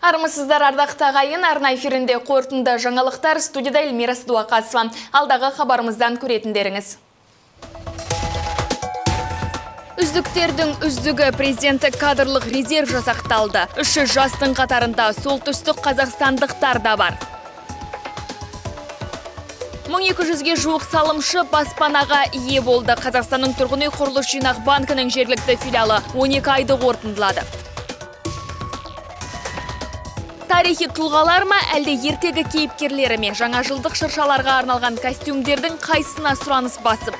Армысыздар ардақты ағайын, арна эфирінде қорытынды жаңалықтар, студияда Эльмира Садуақасова. Алдағы хабарымыздан көретіндеріңіз. Үздіктердің үздігі президенттік кадрлық резерв жасақталды. 300 жастың қатарында солтүстік қазақстандықтар да бар. 1200-ге жуық салымшы баспанаға ие болды. Қазақстанның тұрғын үй құрылыс жинақ банкінің жергілікті филиалы 12 айды қорытындылады. Тарихи тұлғалар ма, әлде ертегі кейіпкерлері ме? Жаңа жылдық шыршаларға арналған костюмдердің қайсына сұраныс басып?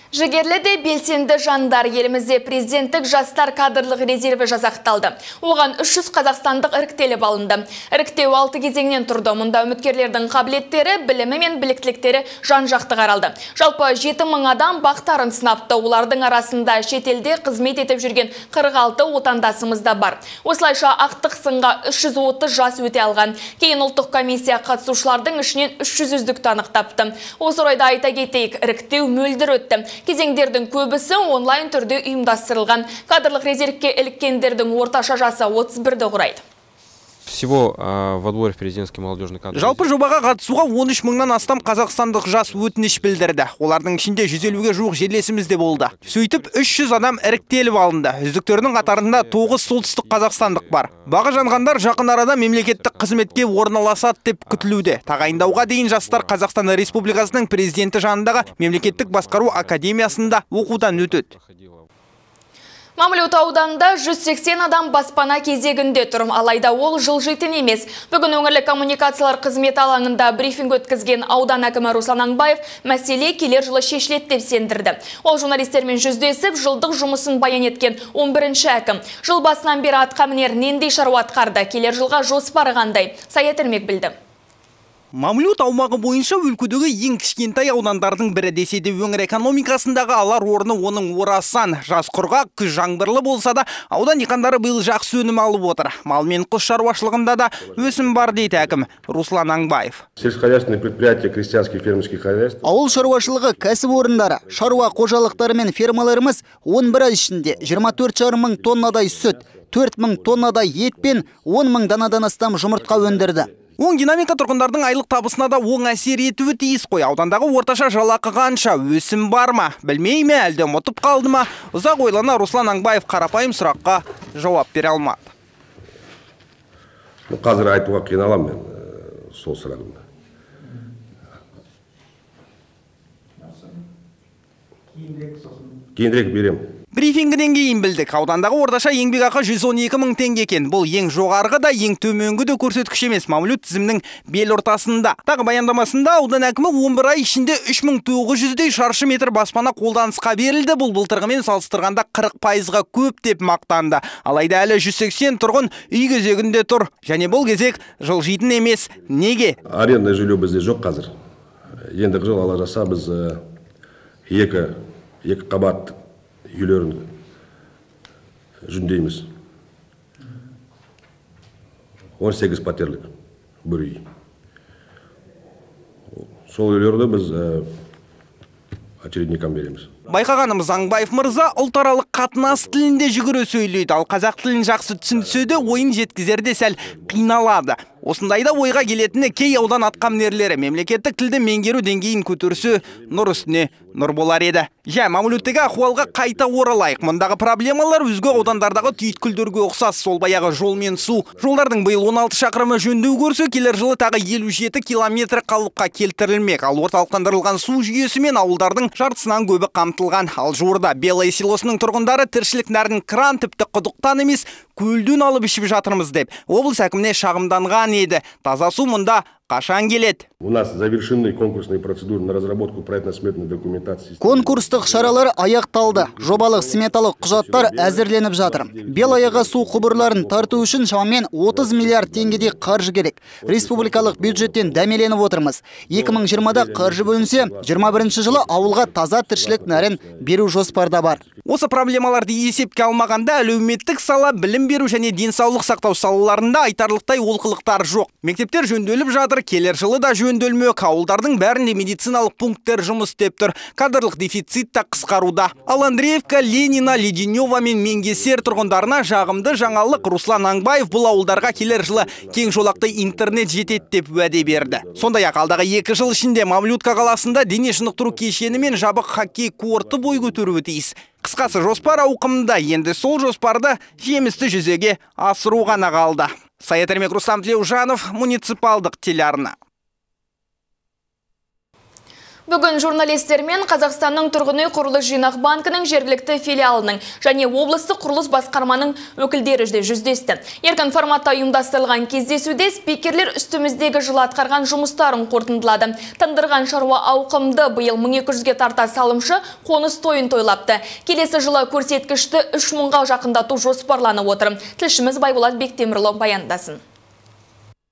Жігерлі де белсенді жандар, елімізде президенттік жастар кадрлық резерві жасақталды. Оған 300 қазақстандық іріктеліп алынды. Іріктеу 6 кезеңнен тұрды. Мұнда үміткерлердің қабілеттері, білімі мен біліктіліктері жан-жақты қаралды. Жалпы 7000 адам бақтарын сынапты. Олардың арасында шетелде қызмет етіп жүрген 46 отандасымыз да бар. Осылайша ақтық сынға 330 жас өте алған. Кейін ұлттық комиссия қатысушылардың ішінен 300 үздікті анықтапты. Осы орайда айта кетейік, іріктеу мөлдір өтті. Кезеңдердің көбісі онлайн түрде ұйымдастырылған. Кадрлық резервке іліккендердің орташа жасы 31-ді құрайды. Всего в отборе в президентский молодежный кадр. Жалпы жобаға қатысуға 13 мыңнан астам қазақстандық жас өтініш білдірді. Олардың ішінде 150-ге жуық жерлесіміз де болды. Сөйтіп 300 адам іріктеліп алынды. Үздіктердің қатарында 9 солтүстік қазақстандық бар. Бағы жанғандар жақын арада мемлекеттік қызметке орналасады деп күтілуде. Тағайындауға дейін жастар Қазақстан Республикасының президенті жанындағы мемлекеттік басқару академиясында оқудан өтеді. Мамлют ауданында 180 адам баспана кезегінде тұр. Алайда ол жылжитын емес. Бүгін өңірлік коммуникациялар қызметі алаңында брифинг өткізген аудан әкімі Руслан Аңбаев мәселе келер жылы шешіледі деп сендірді. Ол журналистермен жүздесіп, жылдық жұмысын баян еткен 11-ші әкім. Жыл басынан бері атқа мінер нендей шаруа атқарды, келер жылға жоспары қандай? Саят Ермек білді. Мамлют аумағы бойынша өлкөдегі ең кішкентай аудандардың бірі десе де өңір экономикасындағы алар орны оның орасан. Жаз құрғақ, күз жаңбырлы болса да, аудан диқандары биыл жақсы өнім алып отыр. Мал мен құс шаруашылығында да өсім бар дейді әкім Руслан Аңбаев. Сельскохозяйственные предприятия, крестьянские фермерские хозяйства. Ауыл шаруашылығы кәсіпорындары, шаруа қожалықтары мен фермаларымыз 11 ай ішінде 24,5 мың тоннадай сүт, 4 мың тоннадай ет пен 10 мың данадан астам жұмыртқа өндірді. Оң динамика тұрғындардың айлық табысына да оң әсер етуі тиіс қой. Аудандағы орташа жалақы қанша, өсім бар ма? Білмей ме, әлде ұмытып қалды ма? Ұзақ ойлана Руслан Аңбаев қарапайым сұраққа жауап бере алмады. Қазір айтуға қиналам мен сол сұрағымды. Кейінірек берем. Брифингіден кейін білдік. Аудандағы орташа еңбекақы 112 мың теңге екен. Бұл ең жоғарғы да, ең төменгі де көрсеткіш емес. Мамлют тізімнің бел ортасында. Тағы баяндамасында аудан әкімі 11 ай ішінде 3900-дей шаршы метр баспана қолданысқа берілді. Бұл былтырғымен салыстырғанда 40%-ға көп деп мақтанды. Алайда әлі 180 тұрғын үй кезегінде тұр. Және бұл кезек жылжитын емес. Неге? Арендный жилье бізде жоқ қазір. Ендігі жыл ала жаса біз екі қабат үйлерін жүндейміз. 18 пәтерлік бір үй. Сол үйлерді біз очередникам береміз. Байқағанымыз Аңбаев мырза ұлтаралық қатынас тілінде жүгіре сөйлейді. Ал қазақ тілін жақсы түсінсе де ойын жеткізерде сәл қиналады. Осындайда ойға келетіні кей аудан атқамінерлері мемлекеттік тілді меңгеру деңгейін көтерсе, нұр үстіне нұр болар еді. Мамлюттегі ахуалға қайта оралайық. Мұндағы проблемалар өзге аудандардағы түйткілдерге ұқсас. Сол баяғы жол мен су. Жолдардың биыл 16 шақырымы жөндеу көрсе, келер жылы тағы 57 километр қалыпқа келтірілмек. Ал орталықтандырылған су жүйесі мен ауылдардың жартысынан көбі қамтылған. Ал жуырда Белый селосының тұрғындары тіршілік нәрін кран тіпті құдықтан емес, көлден алып ішіп жатырмыз деп облыс әкіміне шағымданған еді. Таза су мұнда қашан келеді? У нас завершены конкурсные процедуры на разработку проектно-сметной документации. Конкурстық шаралар аяқталды. Жобалық сметалық құжаттар әзірленіп жатыр. Белаяға су құбырларын тарту үшін шамамен 30 миллиард теңгедей қаржы керек. Республикалық бюджеттен дәмеленіп отырмыз. 2020-да қаржы бөлінсе, 21-ші жылы ауылға таза тіршілік нәрін беру жоспарда бар. Осы проблемаларды есепке алмағанда әлеуметтік сала, білім беру және денсаулық сақтау салаларында айтарлықтай олқылықтар жоқ. Мектептер жөнделіп жатыр, жолдар келер жылы да жөнделмек. Ауылдардың бәрінде медициналық пункттер жұмыс істеп тұр. Кадрлық дефицит та қысқаруда. Ал Андреевка, Ленина, Леденева мен Менгесер тұрғындарына жағымды жаңалық. Руслан Аңбаев бұл ауылдарға келер жылы кең жолақты интернет жетеді деп уәде берді. Сондай-ақ алдағы 2 жыл ішінде Мавлютка қаласында дене шынықтыру кешені мен жабық хоккей корты бой көтеруі тиіс. Қысқасы жоспар ауқымында, енді сол жоспарды жемісті жүзеге асыру ғана қалды. Саят Ермек, Рустам Тлеужанов, муниципалдық телеарна. Бүгін журналистермен Қазақстанның тұрғын үй құрылыс жинақ банкінің жергілікті филиалының және облыстық құрылыс басқарманың өкілдері жүздесті. Еркін форматта ұйымдастырылған кездесуде спикерлер үстіміздегі жылы атқарған жұмыстарын қорытындылады. Тындырған шаруа ауқымды, биыл 1200-ге тарта салымшы қоныс тойын тойлапты. Келесі жылы көрсеткішті 3000-ға жақындату жоспарланып отыр. Тілшіміз Байболат Бектемірлі баяндасын.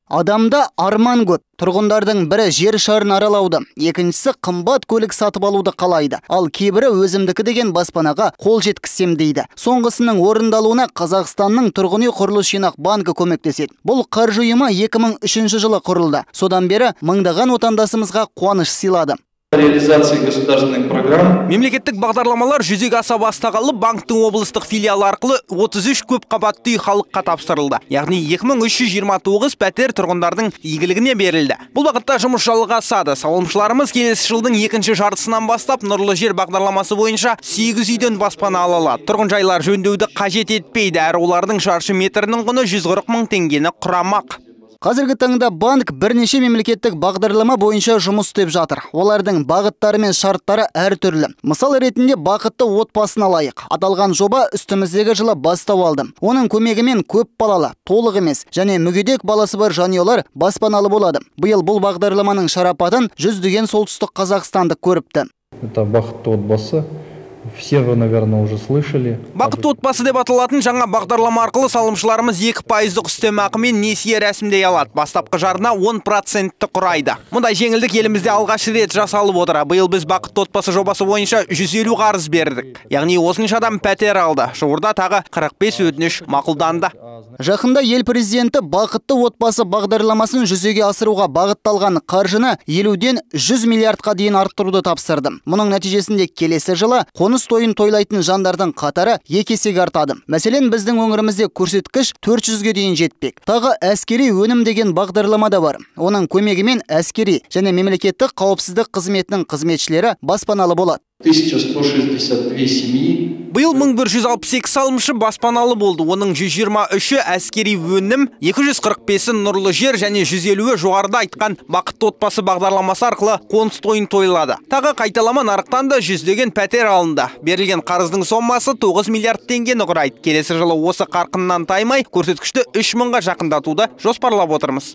Адамда арман көп. Тұрғындардың бірі жер шарын аралауды, екіншісі қымбат көлік сатып алуды қалайды. Ал кейбірі өзімдікі деген баспанаға қол жеткізсем дейді. Соңғысының орындалуына Қазақстанның тұрғын үй құрылыс жинақ банкі көмектеседі. Бұл қаржы ұйымы 2003 жылы құрылды. Содан бері мыңдаған отандасымызға қуаныш сыйлады. Реализации государственных программ. Мемлекеттік бағдарламалар жүзеге аса бастағалы банктың облыстық филиалы арқылы 33 көп қабатты үй халыққа тапсырылды. Яғни 2329 пәтер тұрғындардың игілігіне берілді. Бұл бағытта жұмыс жалғасады. Салымшыларымыз келесі жылдың 2-ші жартысынан бастап нұрлы жер бағдарламасы бойынша 8 үйден баспана ала алады. Тұрғын жайлар жөндеуді қажет етпейді, әрі олардың шаршы метрінің құны 140 000 теңгені құрамақ. Қазіргі таңда банк бірнеше мемлекеттік бағдарлама бойынша жұмыс істеп жатыр. Олардың бағыттары мен шарттары әртүрлі. Мысал ретінде бақытты отбасын алайық. Аталған жоба үстіміздегі жылы бастау алды. Оның көмегімен көп балалы, толық емес және мүгедек баласы бар жанұялар баспаналы болады. Биыл бұл бағдарламаның шарапатын 100 солтүстік қазақстандық көріпті. Это бақытты отбасы. Все вы, наверное, уже слышали. Бақытты отбасы деп аталатын жаңа бағдарлама арқылы салымшыларымыз 2% үстемақы мен несие рәсімдей алады. Бастапқы жарна 10%-ті құрайды. Мұндай жеңілдік елімізде алғаш рет жасалып отыр. Биыл біз бақытты отбасы жобасы бойынша 150 қарыз бердік. Яғни осынша адам пәтер алды. Жуырда тағы 45 өтініш мақұлданды. Жақында ел президенті бақытты отбасы бағдарламасын жүзеге асыруға бағытталған қаржыны 50-ден 100 миллиардқа дейін арттыруды тапсырды. Мұның нәтижесінде келесі жылы қоныс тойын тойлайтын жандардың қатары 2 есеге артады. Мәселен, біздің өңірімізде көрсеткіш 400-ге дейін жетпек. Тағы әскери өнім деген бағдарлама да бар. Оның көмегімен әскери және мемлекеттік қауіпсіздік қызметінің қызметшілері баспаналы болады. 1162 семьи. Биыл 1162 салымшы баспаналы болды. Оның 123-і әскери өнім, 245-і нұрлы жер және 150-і жоғарыда айтқан бақытты отбасы бағдарламасы арқылы қоныс тойын тойлады. Тағы қайталама нарықтан да 100 пәтер алынды. Берілген қарыздың сомасы 9 миллиард теңгені құрайды. Келесі жылы осы қарқыннан таймай көрсеткішті 3000-ға жақындатуды жоспарлап отырмыз.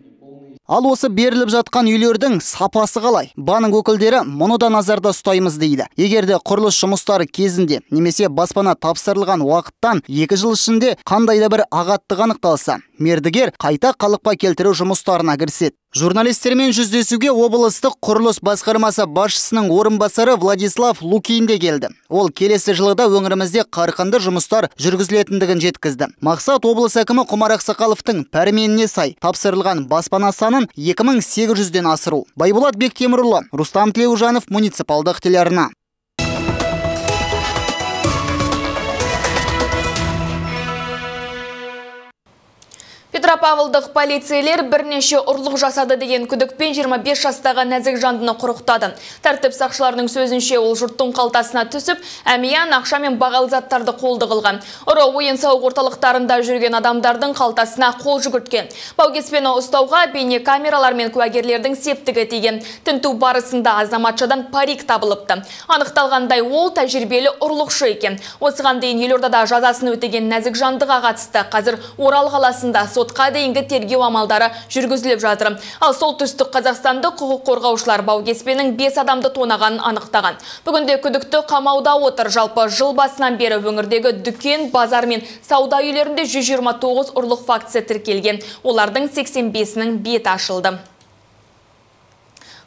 Ал осы беріліп жатқан үйлердің сапасы қалай? Банк өкілдері мұны да назарда ұстаймыз дейді. Егерде құрылыс жұмыстары кезінде немесе баспана тапсырылған уақыттан 2 жыл ішінде қандайда бір ағаттық анықталса, мердігер қайта қалыпқа келтіру жұмыстарына кіріседі. Журналистермен жүздесуге облыстық құрылыс басқармасы басшысының орынбасары Владислав Лукин де келді. Ол келесі жылда өңірімізде қарқынды жұмыстар жүргізілетіндігін жеткізді. Мақсат облыс әкімі Құмар Ақсақаловтың пәрменіне сай тапсырылған баспана санын 2800-ден асыру. Байболат Бектемірлі, Рустам Тлеужанов, муниципалдық телеарна. Петропавлдық полицейлер бірнеше ұрлық жасады деген күдікпен 25 жастағы нәзік жандыны құрықтады. Тәртіп сақшыларының сөзінше ол жұрттың қалтасына түсіп, әмиян, ақша мен бағалы заттарды қолды қылған. Ұры ойын-сауық орталықтарында жүрген адамдардың қалтасына қол жүгірткен. Баугеспені ұстауға бейне камералар мен куәгерлердің септігі тиген. Тінту барысында азаматшадан парик табылыпты. Анықталғандай ол тәжірибелі ұрлықшы екен. Осыған дейін елордада жазасын өтеген нәзік жандыға қатысты. Қазір Орал қаласында сотқа дейінгі тергеу амалдары жүргізіліп жатыр. Ал солтүстік Қазақстанды құқық қорғаушылар Баугеспенің 5 адамды тонағанын анықтаған. Бүгінде күдікті қамауда отыр. Жалпы жыл басынан бері өңірдегі дүкен, базар мен сауда үйлерінде 129 ұрлық фактісі тіркелген. Олардың 85-інің беті ашылды.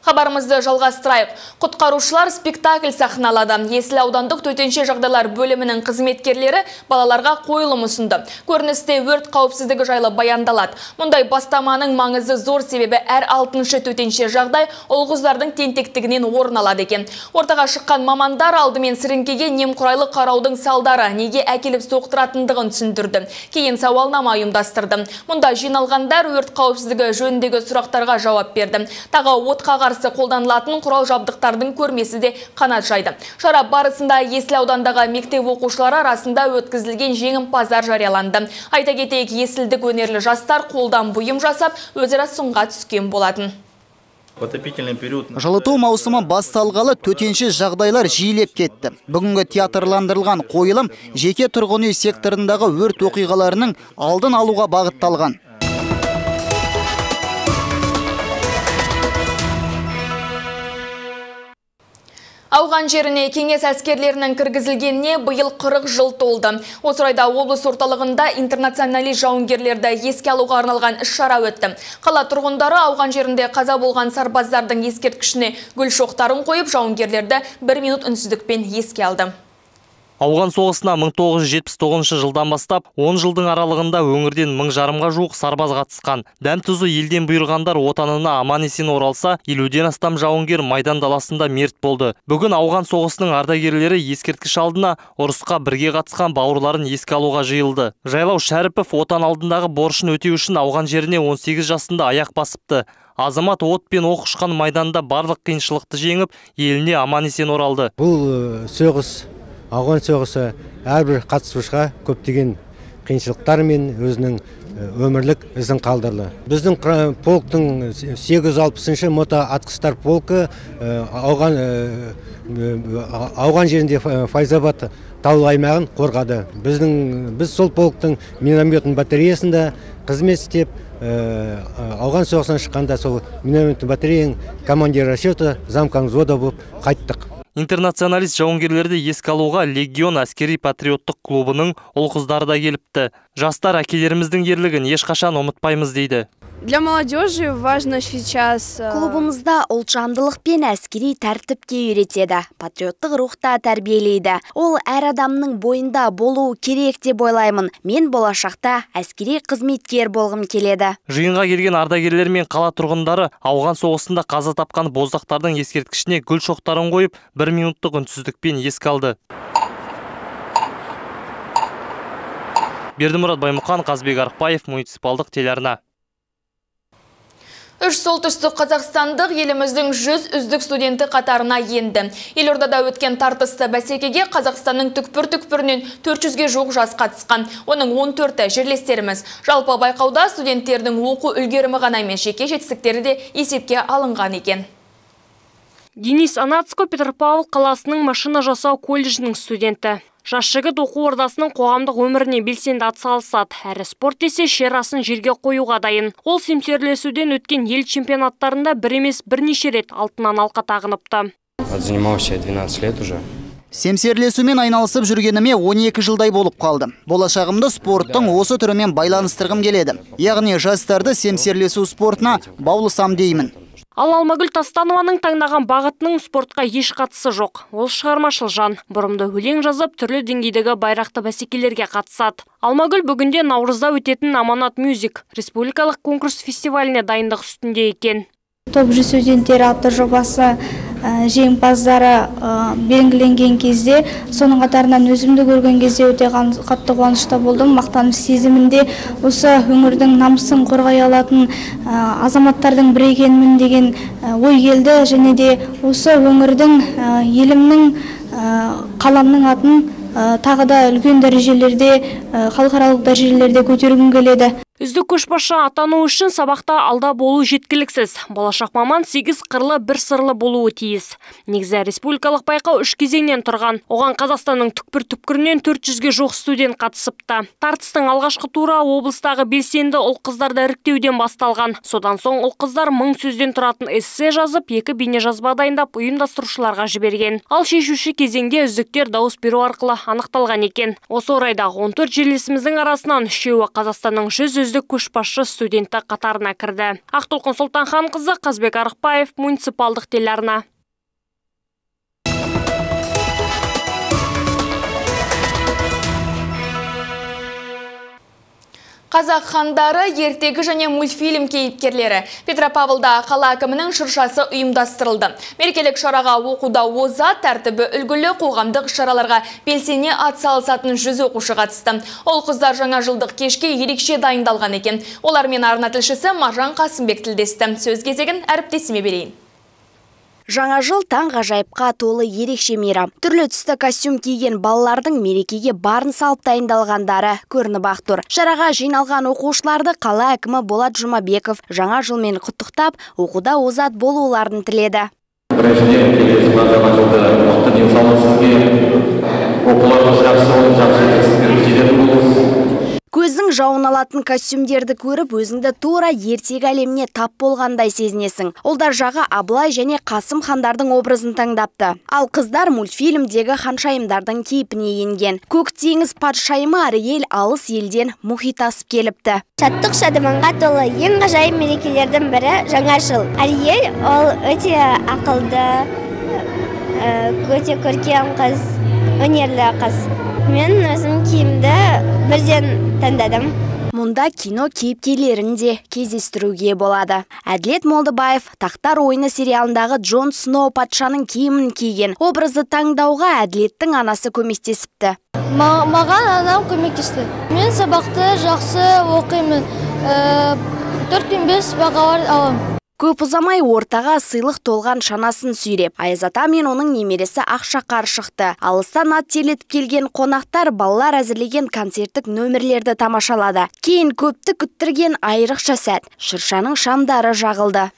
Хабарымызды жалғастырайық. Құтқарушылар спектакль сахналады. Есіл аудандық төтенше жағдайлар бөлімінің қызметкерлері балаларға қойылым ұсынды. Көріністе өрт қауіпсіздігі жайлы баяндалады. Мұндай бастаманың маңызы зор, себебі әр 6-шы төтенше жағдай ұл-қыздардың тентектігінен орын алады екен. Ортаға шыққан мамандар алдымен сіріңкеге немқұрайлы қараудың салдары неге әкеліп соқтыратындығын түсіндірді. Кейін сауалнама ұйымдастырды. Мұнда жиналғандар өрт қауіпсіздігі жөніндегі сұрақтарға жауап берді. Тағы отқа қарсы қолданылатын құрал жабдықтардың көрмесі де қанат жайды. Шара барысында Есіл аудандағы мектеп оқушылары арасында өткізілген жеңімпаздар жарияланды. Айта кетейік, есілдік өнерлі жастар қолдан бұйым жасап, өзара сынға түскен болатын. Жылыту маусымы басталғалы төтенше жағдайлар жиілеп кетті. Бүгінгі театрландырылған қойылым жеке тұрғын үй секторындағы өрт оқиғаларының алдын алуға бағытталған. Ауған жеріне кеңес әскерлерінің кіргізілгеніне биыл 40 жыл толды. Осы орайда облыс орталығында интернационалист жауынгерлерді еске алуға арналған іс-шара өтті. Қала тұрғындары ауған жерінде қаза болған сарбаздардың ескерткішіне гүл шоқтарын қойып, жауынгерлерді 1 минут үнсіздікпен еске алды. Ауған соғысына 1979 жылдан бастап 10 жылдың аралығында өңірден 1000 жарымға жуық сарбаз қатысқан. Дәм-тұзы елден бұйырғандар отанына аман-есен оралса, 50-ден астам жауынгер майдан даласында мерт болды. Бүгін ауған соғысының ардагерлері ескерткіш алдына ұрысқа бірге қатысқан бауырларын еске алуға жиылды. Жайлау Шәріпов отан алдындағы борышын өтеу үшін ауған жеріне 18 жасында аяқ басыпты. Азамат от пен оқ ұшқан майданда барлық қиыншылықты жеңіп, еліне аман-есен оралды. Бұл ауған соғысы әрбір қатысушыға көптеген қиыншылықтар мен өзінің өмірлік ізін қалдырды. Біздің полктың 860-шы мото атқыштар полкі ауған жерінде Файзабад таулы аймағын қорғады. Біз сол полктың минометтің батареясында қызмет істеп, ауған соғысынан шыққанда сол минометтің батареяның командир расчеті замком взвода болып қайттық. Интернационалист жауынгерлерді еске алуға Легион әскери патриоттық клубының ұл-қыздары да келіпті. Жастар әкелеріміздің ерлігін ешқашан ұмытпаймыз дейді. Для молодежи важно сейчас... Клубымызда ұлтжандылық пен әскери тәртіпке үйретеді. Патриоттық рухта тәрбиелейді. Ол әр адамның бойында болуы керек деп ойлаймын. Мен болашақта әскери қызметкер болғым келеді. Жиынға келген ардагерлер мен қала тұрғындары ауған соғысында қаза тапқан боздақтардың ескерткішіне гүл шоқтарын қойып, 1 минуттық үнсіздікпен еске алды. Бердімұрат Баймұқан, Қазбек Арықбаев, муниципалдық телеарна. Үш солтүстік қазақстандық еліміздің 100 үздік студенті қатарына енді. Елордада өткен тартысты бәсекеге Қазақстанның түкпір-түкпірінен 400-ге жуық жас қатысқан. Оның 14-і жерлестеріміз. Жалпы байқауда студенттердің оқу үлгерімі ғана емес, жеке жетістіктері де есепке алынған екен. Денис Анацко Петропавл қаласының машина жасау колледжінің студенті. Жас жігіт оқу ордасының қоғамдық өміріне белсенді атсалысады. Әрі спорт десе шерасын жерге қоюға дайын. Ол семсерлесуден өткен ел чемпионаттарында бір емес бірнеше рет алтыннан алқа тағыныпты. Занимался 12 лет уже. Семсерлесумен айналысып жүргеніме 12 жылдай болып қалды. Болашағымды спорттың осы түрімен байланыстырғым келеді. Яғни жастарды семсерлесу спортына баулысам деймін. Ал Алмагүл Тастанованың таңдаған бағытының спортқа еш қатысы жоқ. Ол шығармашыл жан. Бұрымды өлең жазып, түрлі деңгейдегі байрақты бәсекелерге қатысады. Алмагүл бүгінде наурызда өтетін Аманат Мюзик республикалық конкурс фестиваліне дайындық үстінде екен. Топ 100 студенттері атты жобасы жеңімпаздары белгіленген кезде, соның қатарынан өзімді көрген кезде өте қатты қуанышта болдым. Мақтаныш сезімінде осы өңірдің намысын қорғай алатын азаматтардың бірі екенмін деген ой келді, және де осы өңірдің, елімнің, қаламның атын тағы да үлкен дәрежелерде, халықаралық дәрежелерде көтергім келеді. Үздік көшбасшы атану үшін сабақта алда болу жеткіліксіз. Болашақ маман 8 қырлы бір сырлы болуы тиіс. Негізі республикалық байқау 3 кезеңнен тұрған. Оған Қазақстанның түкпір-түкпірінен 400-ге жоқ студент қатысыпты. Тартыстың алғашқы тура облыстағы белсенді ұл-қыздарды іріктеуден басталған. Содан соң ұл-қыздар 1000 сөзден тұратын эссе жазып, 2 бейнежазба дайындап ұйымдастырушыларға жіберген. Ал шешуші кезеңде үздіктер дауыс беру арқылы анықталған екен. Осы орайда 14 жерлесіміздің арасынан 3-еуі Қазақстанның 100 үздік көшбасшы студенті қатарына кірді. Ақтолқын Сұлтанханқызы, Қазбек Арықбаев, муниципалдық телеарна. Қазақ хандары ертегі және мультфильм кейіпкерлері. Петропавлда қала әкімінің шыршасы ұйымдастырылды. Мерекелік шараға оқуда озат, тәртібі үлгілі қоғамдық шараларға белсене атсалысатын 100 оқушы қатысты. Ол қыздар жаңа жылдық кешке ерекше дайындалған екен. Олармен арна тілшісі Маржан Қасымбек тілдесті. Сөз кезегін әріптесіме берейін. Жаңа жыл таң ғажайыпқа толы ерекше мейрам. Түрлі түсті костюм киген балалардың мерекеге барын салып дайындалғандары көрініп ақ тұр. Шараға жиналған оқушыларды қала әкімі Болат Жұмабеков жаңа жылмен құттықтап, оқуда озат болуларын тіледі. Көздің жауын алатын костюмдерді көріп, өзіңді тура ертегі әлеміне тап болғандай сезінесің. Олдар жағы Абылай және Қасым хандардың образын таңдапты. Ал қыздар мультфильмдегі ханшайымдардың кейпіне енген. Көк теңіз патшайымы Ариель алыс елден мұхит асып келіпті. Шаттық шадыманға толы ең ғажайып мерекелердің бірі жаңа жыл. Ариель ол өте ақылды, өте көркем қыз, өнерлі қыз. Мен өзім киімді бірден таңдадым. Мұнда кино кейіпкерлерін де кездестіруге болады. Әділет Молдыбаев Тақтар ойыны сериалындағы Джон Сноу патшаның киімін киген. Образды таңдауға Әділеттің анасы көмектесіпті. Маған анам көмектесті. Мен сабақты жақсы оқимын. 4-5 бағалар алам. Көп ұзамай ортаға сыйлық толған шанасын сүйреп, Айзата мен оның немересі Ақшақар шықты. Алыстан ат телетіп келген қонақтар балалар әзірлеген концерттік нөмірлерді тамашалады. Кейін көпті күттірген айрықша сәт, шыршаның шамдары жағылды.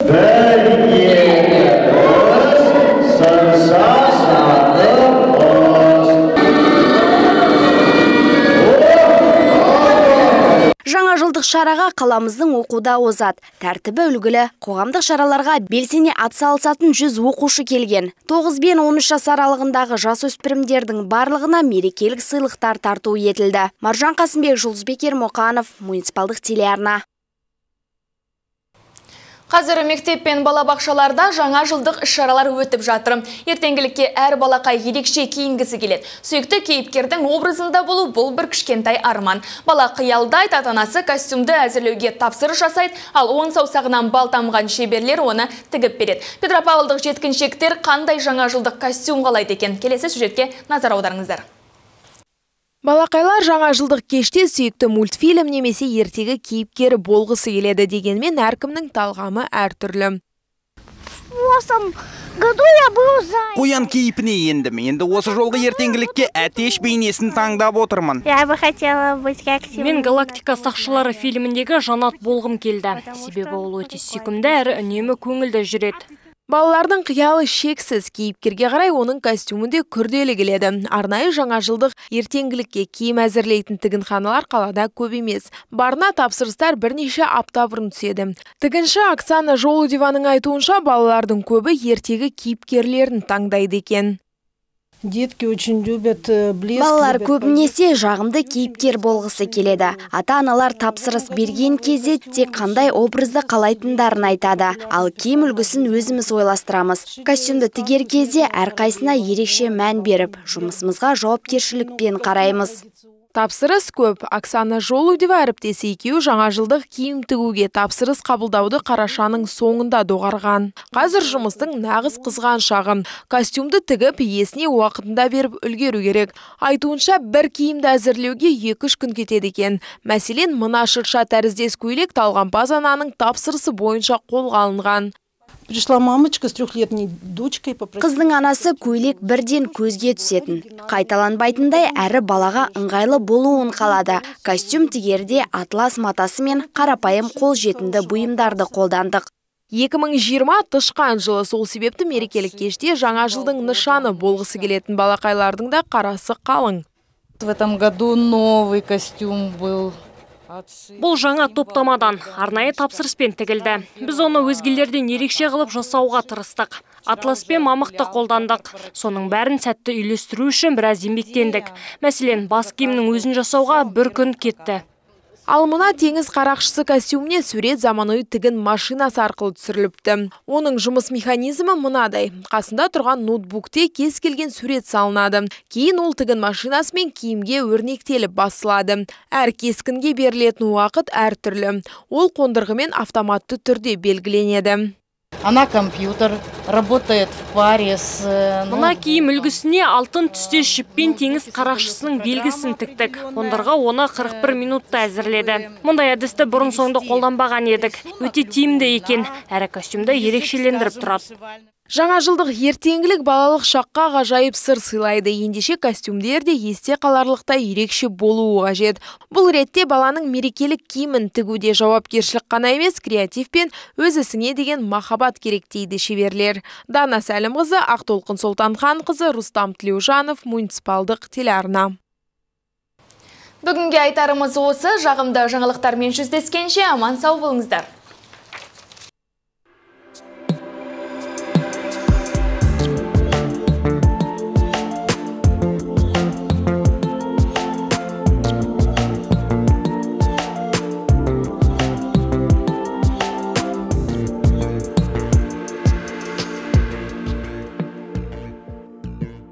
Жаңа жылдық шараға қаламыздың оқуда озат, тәртібі үлгілі, қоғамдық шараларға белсене атсалысатын 100 оқушы келген. 9 бен 13 жас аралығындағы жасөспірімдердің барлығына мерекелік сыйлықтар тарту етілді. Маржан Қасымбек, Жұлдызбек Ермұқанов, муниципалдық телеарна. Қазір мектеп пен балабақшаларда жаңа жылдық іс-шаралар өтіп жатыр. Ертеңгілікке әр балақай ерекше киінгісі келеді. Сүйікті кейіпкердің образында болу бұл бір кішкентай арман. Бала қиялдайды, ата-анасы костюмді әзірлеуге тапсырыс жасайды, ал он саусағынан бал тамған шеберлер оны тігіп береді. Петропавлдық жеткіншектер қандай жаңа жылдық костюм қалайды екен? Келесі сюжетке назар аударыңыздар. Балақайлар жаңа жылдық кеште сүйікті мультфильм немесе ертегі кейіпкері болғысы келеді, дегенмен әркімнің талғамы әртүрлі. Қоян кейіпіне ендім. Енді осы жолғы ертеңгілікке әтеш бейнесін таңдап отырмын. Мен «Галактика сақшылары» фильміндегі Жанат болғым келді. Себебі ол өте сүйкімді әрі үнемі көңілді жүреді. Балалардың қиялы шексіз, кейіпкерге қарай оның костюмінде күрделі келеді. Арнайы жаңа жылдық ертеңгілікке киім әзірлейтін тігінханалар қалада көп емес. Барына тапсырыстар бірнеше апта бұрын түседі. Тігінші Оксана Жолудеваның айтуынша, балалардың көбі ертегі кейіпкерлерін таңдайды екен. Балалар көбінесе жағымды кейіпкер болғысы келеді. Ата-аналар тапсырыс берген кезде тек қандай образды қалайтындарын айтады. Ал киім үлгісін өзіміз ойластырамыз. Костюмді тігер кезде әрқайсына ерекше мән беріп, жұмысымызға жауапкершілікпен қараймыз. Тапсырыс көп. Оксана Жолудева әріптесі екеуі жаңа жылдық киім тігуге тапсырыс қабылдауды қарашаның соңында доғарған. Қазір жұмыстың нағыз қызған шағын. Костюмды тігіп, иесіне уақытында беріп үлгеру керек. Айтуынша бір киімді әзірлеуге 2-3 күн кетеді екен. Мәселен, мына шырша тәріздес көйлек талғампаз ананың тапсырысы бойынша қолға алынған. Пришла мамочка с 3-летней дочкой. Қыздың анасы көйлек бірден көзге түсетін. Қайталанбайтындай әрі балаға ыңғайлы болуын қалады. Костюм тігерде атлас матасы мен қарапайым қолжетімді бұйымдарды қолдандық. 2020 тышқан жылы, сол себепті мерекелік кеште жаңа жылдың нышаны болғысы келетін балақайлардың да қарасы қалың. В этом году новый костюм был. Бұл жаңа топтамадан арнайы тапсырыспен тігілді. Біз оны өзгелерден ерекше қылып жасауға тырыстық. Атлас пен мамықты қолдандық. Соның бәрін сәтті үйлестіру үшін біраз еңбектендік. Мәселен, бас киімнің өзін жасауға бір күн кетті. Ал мына теңіз қарақшысы костюміне сурет заманауи тігін машинасы арқылы түсіріліпті. Оның жұмыс механизмі мынадай. Қасында тұрған ноутбукте кез келген сурет салынады. Кейін ол тігін машинасымен киімге өрнектеліп басылады. Әр кескінге берілетін уақыт әртүрлі. Ол қондырғымен автоматты түрде белгіленеді. Она компьютер, работает в паре с... Мына киім үлгісіне алтын түстес жіппен теңіз қарақшысының белгісін тіктік. Қондырғы оны 41 минутта әзірледі. Мұндай әдісті бұрын соңды қолданбаған едік. Өте тиімді екен. Әрі костюмді ерекшелендіріп тұрады. Жаңа жылдық ертеңгілік балалық шаққа ғажайып сыр сыйлайды. Ендеше костюмдер де есте қаларлықтай ерекше болуы қажет. Бұл ретте баланың мерекелік киімін тігуде жауапкершілік қана емес, креатив пен өз ісіңе деген махаббат керек дейді шеберлер. Дана Сәлімқызы, Ақтолқын Солтанханқызы, Рустам Тілеужанов, муниципалдық телеарна. Бүгінге айтарымыз осы. Жағымды жаңалықтармен жүздескенше аман сау болыңыздар.